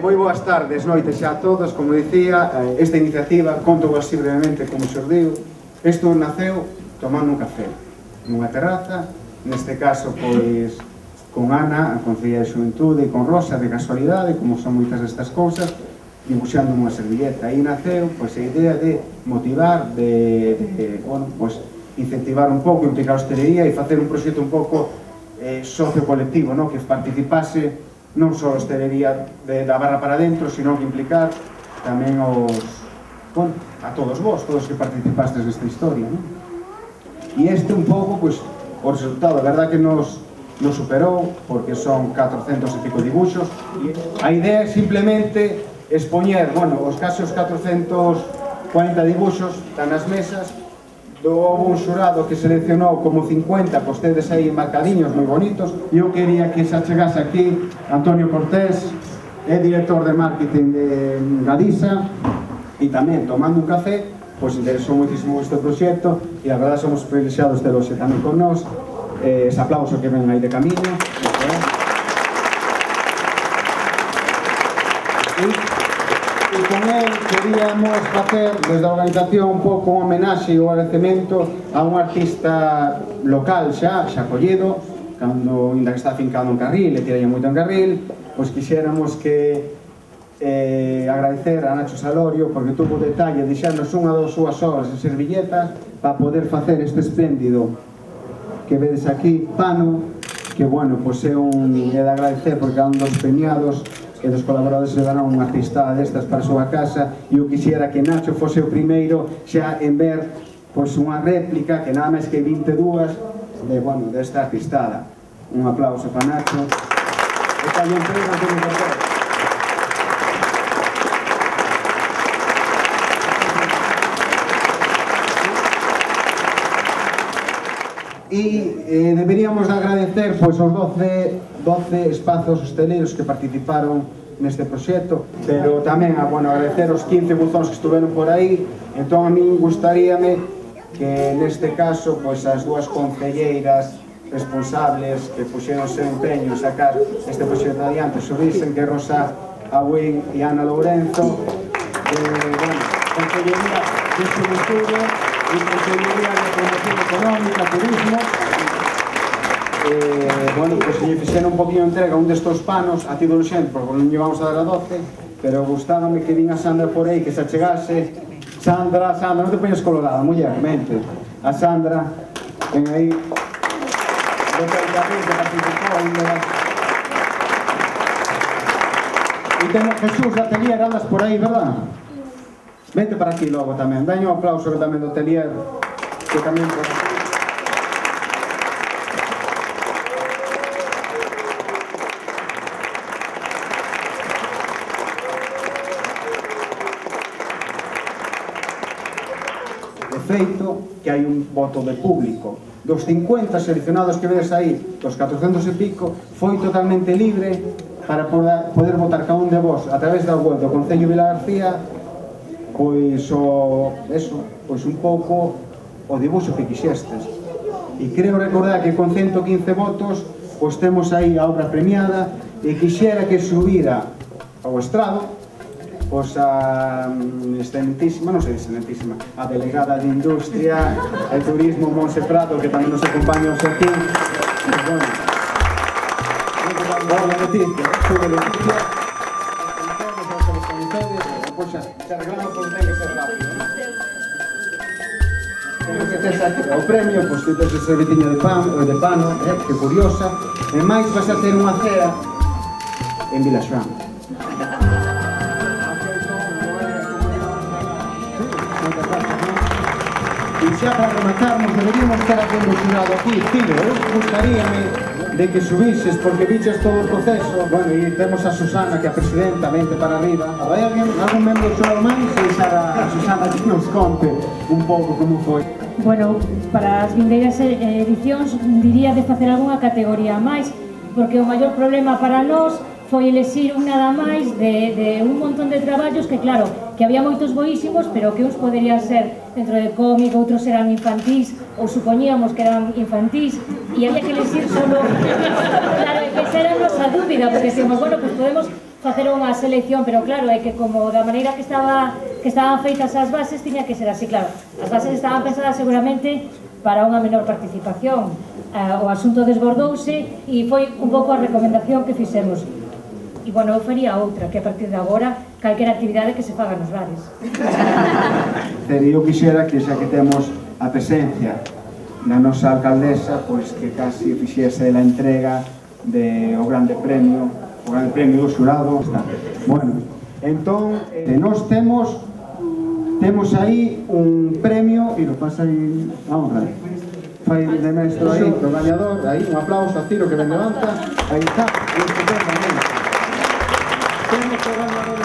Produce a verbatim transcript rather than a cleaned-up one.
moi boas tardes, noites xa a todos. Como dicía, esta iniciativa, conto así brevemente como xurdiu. Isto naceu tomando un café nunha terraza, neste caso, pois, con Ana, a Concelleira de Xuventude, e con Rosa, de casualidade, como son moitas destas cousas, dibuixando unha servilleta. Aí naceu, pois, a idea de motivar, de, de bueno, pois, incentivar un pouco, implicar a hostelería e facer un proxecto un pouco eh, socio-colectivo, no? Que participase non só a hostelería de, da barra para dentro, sino que implicar tamén os, bueno, a todos vos, todos que participastes nesta historia, non? E este un pouco, pois, o resultado, a verdad que nos, nos superou, porque son catrocentos e pico dibuixos, e a idea é simplemente expoñer, bueno, os casos catrocentos cuarenta dibuixos están nas mesas. Houve un xurado que seleccionou como cincuenta, que ustedes aí marcadiños moi bonitos, e eu quería que se achegase aquí Antonio Cortés, é director de marketing de Gadisa, e tamén tomando un café, pois interesou moitísimo este proxecto, e a verdade somos privilexiados de los tamén con nós. Eh, ese aplauso que ven aí de camiño. E con él queríamos facer desde a organización un pouco un homenaxe ou agradecemento a un artista local xa, xa collido, cando ainda que está afincado en Carril, e tiralle moito en Carril, pois quixéramos que eh, agradecer a Nacho Salorio, porque tuvo detalle de xernos unha ou súas horas en servilletas para poder facer este espléndido que vedes aquí, pano, que, bueno, pois é un é de agradecer, porque é un dos premiados e dos colaboradores se darán unha artistada destas para a súa casa, e eu quixera que Nacho fose o primeiro xa en ver, pois, unha réplica que nada máis que vinte e dúas de, bueno, desta artistada. Un aplauso para Nacho. E tamén entrega que me cortou. E eh, deberíamos de agradecer, pois, os doce, doce espazos hosteleiros que participaron neste proxecto, pero tamén a, bueno, agradecer os quince buzóns que estuveron por aí. Entón a min gustaríame que neste caso, pois, as dúas concelleiras responsables que puxeron seu empeño en sacar este proxecto adiante subisen, que é Rosa Agüín e Ana Lourenzo, de, bueno, Concellería de Xuventude e Concellería de Promoción Económica, Turismo. Eh, bueno, pois se lle fixeron un poquinho entrega un destos panos a ti do xente, porque non lle vamos a dar a doce, pero gustábame que vin a Sandra por aí, que se achegase. Sandra, Sandra, non te poñes colorada, muller, mente. A Sandra, ven aí, do Carril, que participou ainda. E temos Jesús da Atelier, andas por aí, verdad? Vente para aquí logo tamén, daño un aplauso que tamén do Atelier, que tamén por aquí. Feito que hai un voto de público. Dos cincuenta seleccionados que vedes aí, dos catrocentos e pico, foi totalmente libre para poder votar cada un de vos a través da web do Concello Vila García, pois o, eso, pois un pouco o dibuixo que quixestes. E creo recordar que con ciento quince votos, pois temos aí a obra premiada, e quixera que subira ao estrado, pois a excelentísima, non sei excelentísima, a delegada de Industria e Turismo, Monse Prado, que tamén nos acompaña hoxe aquí. Bueno, boa noticia, sube Leticia, pois xa, se arreglamos, pois ten que ser rápido, non? Que tes aquí o premio, pois que tes ese serviciño de pan, ou de pano, eh, que curiosa, e máis vas a ter unha cea en Vilaxoán. E xa para rematarnos, deberíamos estar aquendo xurado aquí, Tiro, eu gustaríame de que subises, porque viches todo o proceso. Bueno, e temos a Susana, que é a presidenta, vente para arriba. Hai alguén, algún membro do xurado máis? E xa a Susana que nos conte un pouco como foi. Bueno, para as vindeiras edicións diría de facer algunha categoría máis, porque o maior problema para nós foi elexir un nada máis de, de un montón de traballos que, claro, que había moitos boísimos, pero que uns poderían ser dentro de cómic, outros eran infantís, ou supoñíamos que eran infantís, e había que elexir solo... Claro, que esa era a nosa dúbida, porque decimos, bueno, pues podemos facer unha selección, pero claro, é que como da maneira que estaba que estaban feitas as bases, tiña que ser así, claro. As bases estaban pensadas seguramente para unha menor participación. O asunto desbordouse e foi un pouco a recomendación que fixemos. E, bueno, eu faría outra, que a partir de agora, calquera actividade que se faga nos bares. Eu quixera que xa que temos a presencia da nosa alcaldesa, pois que casi fixese a entrega do grande premio, o grande premio do xurado. Bueno, entón, nós temos temos aí un premio, e lo pasa aí, vamos a ver, fai de maestro aí, o gañador, aí, un aplauso a Ciro que ben levanta, aí está, e estupendamente. Temos o gañador